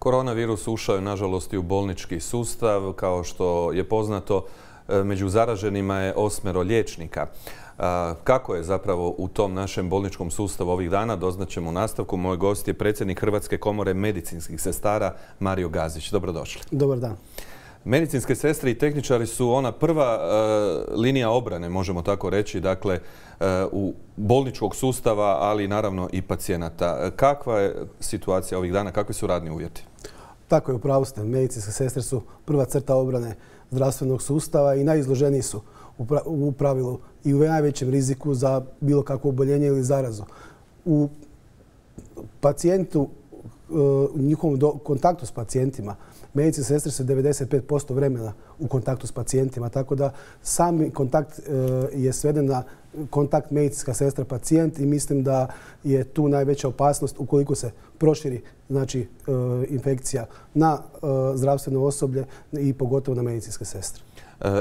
Koronavirus ušao je nažalost i u bolnički sustav. Kao što je poznato, među zaraženima je 8 liječnika. Kako je zapravo u tom našem bolničkom sustavu ovih dana, doznaćemo u nastavku. Moj gost je predsjednik Hrvatske komore medicinskih sestara Mario Gazić. Dobrodošli. Dobar dan. Medicinske sestre i tehničari su ona prva linija obrane, možemo tako reći, dakle, u bolničkog sustava, ali naravno i pacijenata. Kakva je situacija ovih dana, kakvi su radni uvjeti? Tako je, upravo ste. Medicinske sestre su prva crta obrane zdravstvenog sustava i najizloženiji su u pravilu i u najvećem riziku za bilo kakvo oboljenje ili zarazu. U pacijentu, u njihovom kontaktu s pacijentima, medicinske sestre su 95% vremena u kontaktu s pacijentima, tako da sami kontakt je sveden na kontakt medicinska sestra pacijent i mislim da je tu najveća opasnost ukoliko se proširi infekcija na zdravstveno osoblje i pogotovo na medicinske sestre.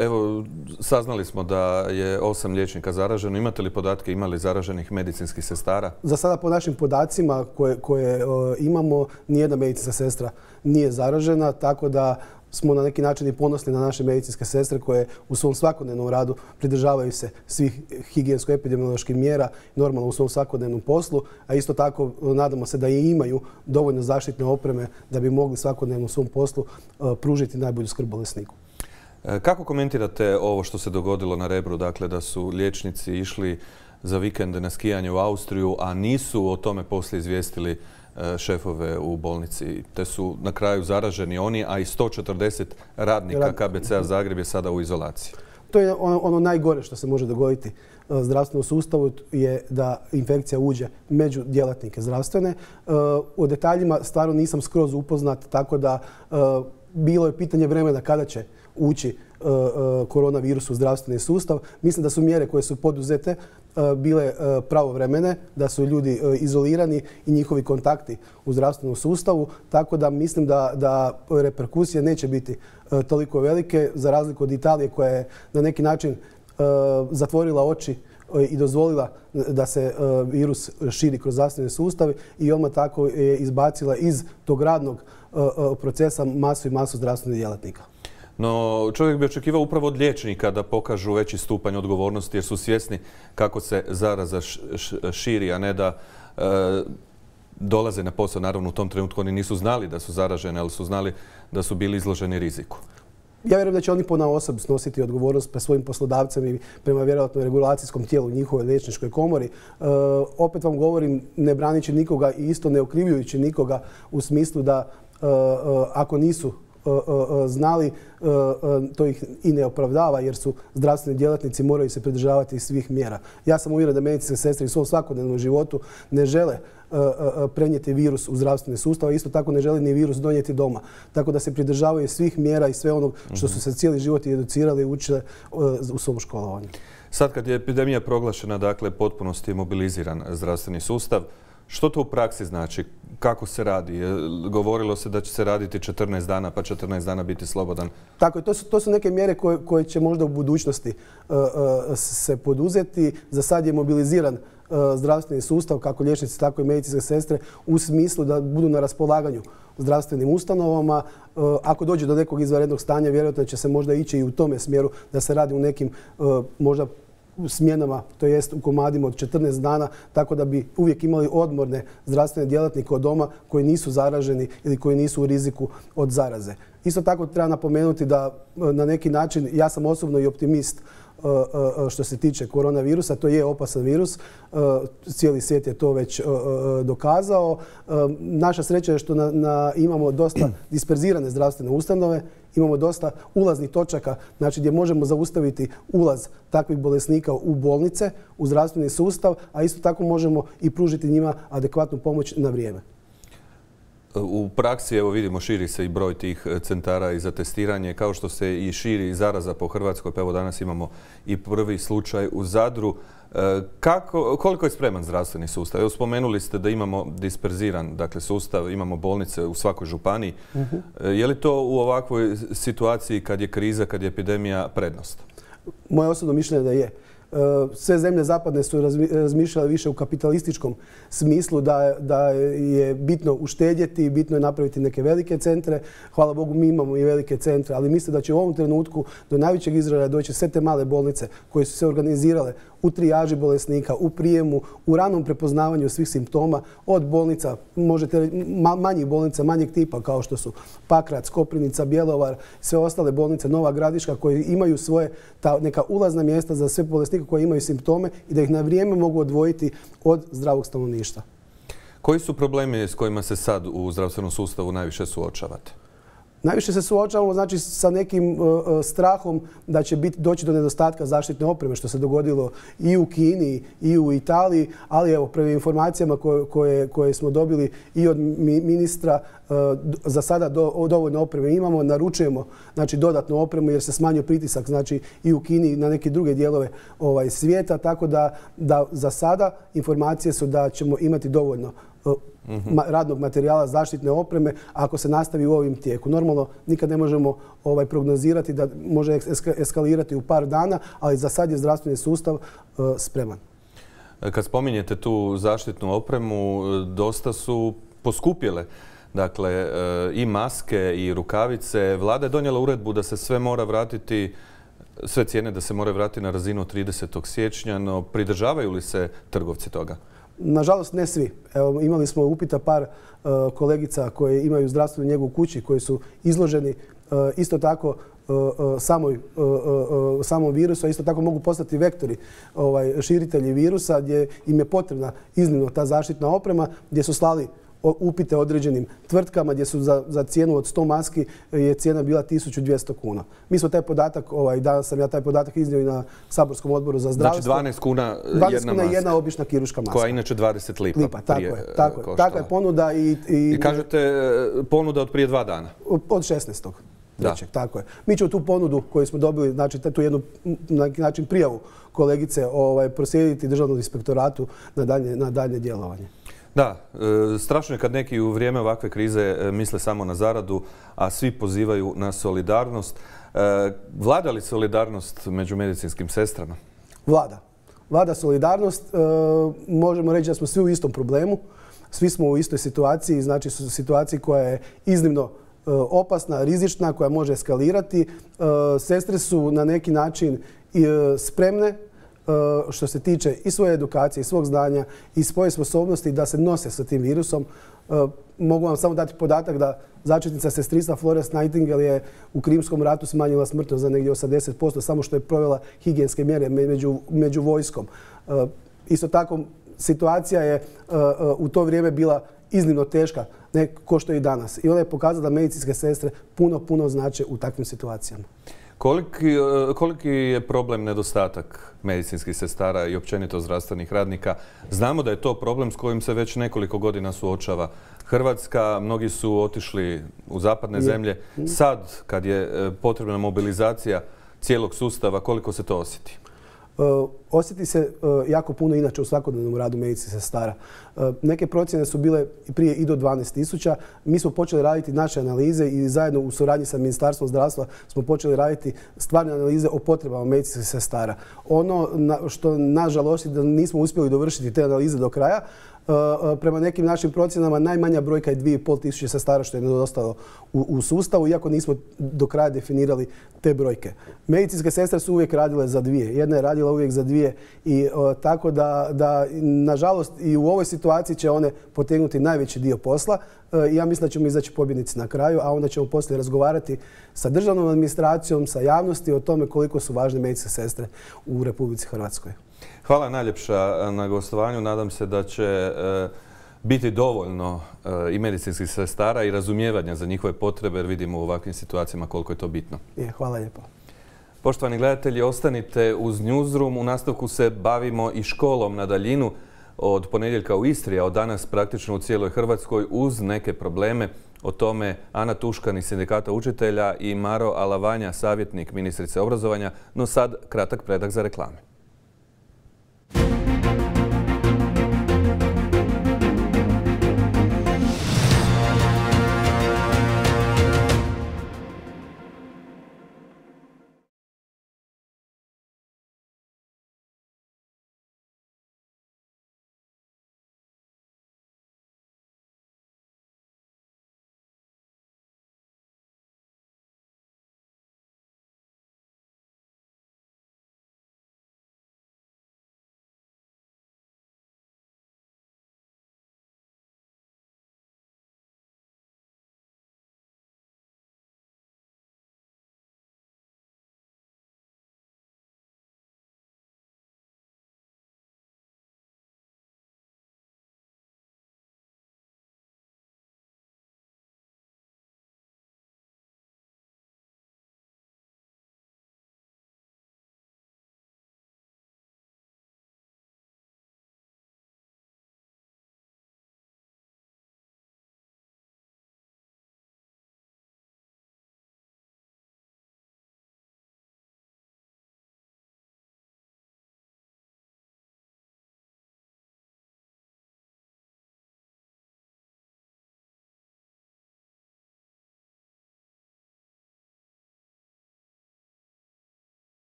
Evo, saznali smo da je 8 liječnika zaraženo. Imate li podatke, ima li zaraženih medicinskih sestara? Za sada po našim podacima koje imamo, nijedna medicinska sestra nije zaražena, tako da smo na neki način i ponosni na naše medicinske sestre koje u svom svakodnevnom radu pridržavaju se svih higijensko-epidemioloških mjera normalno u svom svakodnevnom poslu, a isto tako nadamo se da i imaju dovoljno zaštitne opreme da bi mogli svakodnevno u svom poslu pružiti najbolju skrb bolesniku. Kako komentirate ovo što se dogodilo na Rebru, dakle da su liječnici išli za vikend na skijanje u Austriju, a nisu o tome poslije izvijestili šefove u bolnici, te su na kraju zaraženi oni, a i 140 radnika KBC-a Zagreb je sada u izolaciji? To je ono najgore što se može dogoditi zdravstvenom sustavu, je da infekcija uđe među djelatnike zdravstvene. O detaljima stvarno nisam skroz upoznat, tako da bilo je pitanje vremena kada će ući koronavirus u zdravstveni sustav. Mislim da su mjere koje su poduzete bile pravovremene, da su ljudi izolirani i njihovi kontakti u zdravstvenom sustavu, tako da mislim da reperkusije neće biti toliko velike, za razliku od Italije koja je na neki način zatvorila oči i dozvolila da se virus širi kroz zdravstveni sustav i odmah tako je izbacila iz tog radnog procesa masu i masu zdravstvenih djelatnika. No, čovjek bi očekivao upravo od liječnika da pokažu veći stupanj odgovornosti jer su svjesni kako se zaraza širi, a ne da dolaze na posao. Naravno, u tom trenutku oni nisu znali da su zaraženi, ali su znali da su bili izloženi riziku. Ja vjerujem da će oni ponaosob snositi odgovornost pred svojim poslodavcem i prema vjerojatno regulacijskom tijelu u njihovoj liječničkoj komori. Opet vam govorim, ne branići nikoga i isto ne okrivljujući nikoga u smislu da ako nisu znali, to ih i ne opravdava jer su zdravstveni djelatnici, moraju se pridržavati svih mjera. Ja sam uvjeren da medicinske sestre u svom svakodnevnom životu ne žele prenijeti virus u zdravstveni sustav, a isto tako ne žele ni virus donijeti doma. Tako da se pridržavaju svih mjera i sve onog što su se cijeli život educirali i učili u svom školovanju. Sad kad je epidemija proglašena, dakle, potpunosti je mobiliziran zdravstveni sustav, što to u praksi znači? Kako se radi? Govorilo se da će se raditi 14 dana, pa 14 dana biti slobodan. Tako je, to su neke mjere koje će možda u budućnosti se poduzeti. Za sad je mobiliziran zdravstveni sustav, kako liječnici, tako i medicinske sestre, u smislu da budu na raspolaganju zdravstvenim ustanovama. Ako dođe do nekog izvanrednog stanja, vjerojatno će se možda ići i u tome smjeru da se radi u nekim možda smjenama, to jest u komadima od 14 dana, tako da bi uvijek imali odmorne zdravstvene djelatnike od doma koji nisu zaraženi ili koji nisu u riziku od zaraze. Isto tako treba napomenuti da na neki način, ja sam osobno i optimist što se tiče koronavirusa, to je opasan virus, cijeli svijet je to već dokazao. Naša sreća je što imamo dosta disperzirane zdravstvene ustanove, imamo dosta ulaznih točaka, znači gdje možemo zaustaviti ulaz takvih bolesnika u bolnice, u zdravstveni sustav, a isto tako možemo i pružiti njima adekvatnu pomoć na vrijeme. U praksi, evo vidimo, širi se i broj tih centara i za testiranje, kao što se i širi zaraza po Hrvatskoj. Pa evo danas imamo i prvi slučaj u Zadru. Koliko je spreman zdravstveni sustav? Evo, spomenuli ste da imamo disperziran, dakle, sustav, imamo bolnice u svakoj županiji. Je li to u ovakvoj situaciji kad je kriza, kad je epidemija prednost? Moje osobno mišljenje da je. Sve zemlje zapadne su razmišljale više u kapitalističkom smislu da je bitno uštedjeti, bitno je napraviti neke velike centre. Hvala Bogu, mi imamo i velike centre, ali mislim da će u ovom trenutku do najvećeg izražaja doći sve te male bolnice koje su se organizirale u trijaži bolesnika, u prijemu, u ranom prepoznavanju svih simptoma, od bolnica, manjih bolnica, manjeg tipa kao što su Pakrac, Koprivnica, Bjelovar, sve ostale bolnice, Nova Gradiška, koje imaju svoje neka ulazna mjesta za sve bolesnike koji imaju simptome i da ih na vrijeme mogu odvojiti od zdravog stanovništva. Koji su problemi s kojima se sad u zdravstvenom sustavu najviše suočavate? Najviše se suočavamo znači sa nekim strahom da će doći do nedostatka zaštitne opreme, što se dogodilo i u Kini i u Italiji, ali evo, prema informacijama koje smo dobili i od ministra, za sada dovoljno opreme imamo, naručujemo znači dodatnu opremu jer se smanjio pritisak znači i u Kini i na neke druge dijelove svijeta, tako da za sada informacije su da ćemo imati dovoljno radnog materijala, zaštitne opreme ako se nastavi u ovim tijeku. Normalno nikad ne možemo prognozirati da može eskalirati u par dana, ali za sad je zdravstveni sustav spreman. Kad spominjete tu zaštitnu opremu, dosta su poskupjele. Dakle, i maske i rukavice. Vlada je donijela uredbu da se sve mora vratiti, sve cijene da se moraju vratiti na razinu 30. siječnja, no pridržavaju li se trgovci toga? Nažalost, ne svi. Evo, imali smo upita par kolegica koje imaju zdravstvenu njegu u kući, koji su izloženi isto tako samom virusu, a isto tako mogu postati vektori, širitelji virusa, gdje im je potrebna iznimno ta zaštitna oprema, gdje su slali upite određenim tvrtkama gdje su za cijenu od 100 maski je cijena bila 1200 kuna. Mi smo taj podatak, danas sam ja taj podatak iznio i na saborskom odboru za zdravstvo. Znači 12 kuna jedna maska. Jedna obična kirurška maska. Koja je inače 20 lipa. Tako je ponuda i kažete ponuda od prije 2 dana? Od 16. Tako je. Mi ćemo tu ponudu koju smo dobili, znači tu jednu na neki način prijavu kolegice proslijediti Državnom inspektoratu na daljnje djelovanje. Da, strašno je kad neki u vrijeme ovakve krize misle samo na zaradu, a svi pozivaju na solidarnost. Vlada li solidarnost među medicinskim sestrama? Vlada solidarnost. Možemo reći da smo svi u istom problemu. Svi smo u istoj situaciji, znači situaciji koja je iznimno opasna, rizična, koja može eskalirati. Sestre su na neki način spremne što se tiče i svoje edukacije, i svog znanja, i svoje sposobnosti da se nose sa tim virusom. Mogu vam samo dati podatak da začetnica sestrinstva Florence Nightingale je u Krimskom ratu smanjila smrtnost za negdje 80%, samo što je provela higijenske mjere među vojskom. Isto tako, situacija je u to vrijeme bila iznimno teška, ne ko što je i danas. I ona je pokazala da medicinske sestre puno znače u takvim situacijama. Koliki je problem nedostatak medicinskih sestara i općenito zdravstvenih radnika? Znamo da je to problem s kojim se već nekoliko godina suočava Hrvatska. Mnogi su otišli u zapadne zemlje. Sad, kad je potrebna mobilizacija cijelog sustava, koliko se to osjeti? Osjeti se jako puno inače u svakodnevnom radu medicinskih sestara. Neke procjene su bile prije i do 12.000. Mi smo počeli raditi naše analize i zajedno u suradnji sa Ministarstvom zdravstva smo počeli raditi stvarne analize o potrebama medicinskih sestara. Ono što nažalost da nismo uspjeli dovršiti te analize do kraja, prema nekim našim procjenama najmanja brojka je 2500 sestara što je nedostalo u sustavu, iako nismo do kraja definirali te brojke. Medicinske sestre su uvijek radile za dvije. Jedna je radila uvijek za dvije i tako da nažalost i u ovoj situaciji će one potegnuti najveći dio posla. Ja mislim da ćemo izaći pobjednici na kraju, a onda ćemo poslije razgovarati sa državnom administracijom, sa javnosti o tome koliko su važne medicinske sestre u Republici Hrvatskoj. Hvala najljepša na gostovanju. Nadam se da će biti dovoljno i medicinskih sestara i razumijevanja za njihove potrebe, jer vidimo u ovakvim situacijama koliko je to bitno. Hvala lijepo. Poštovani gledatelji, ostanite uz Newsroom. U nastavku se bavimo i školom na daljinu od ponedjeljka u Istri, a od danas praktično u cijeloj Hrvatskoj uz neke probleme. O tome Ana Tuškan iz Sindikata učitelja i Maro Alavanja, savjetnik ministrice obrazovanja. No sad kratak predah za reklame.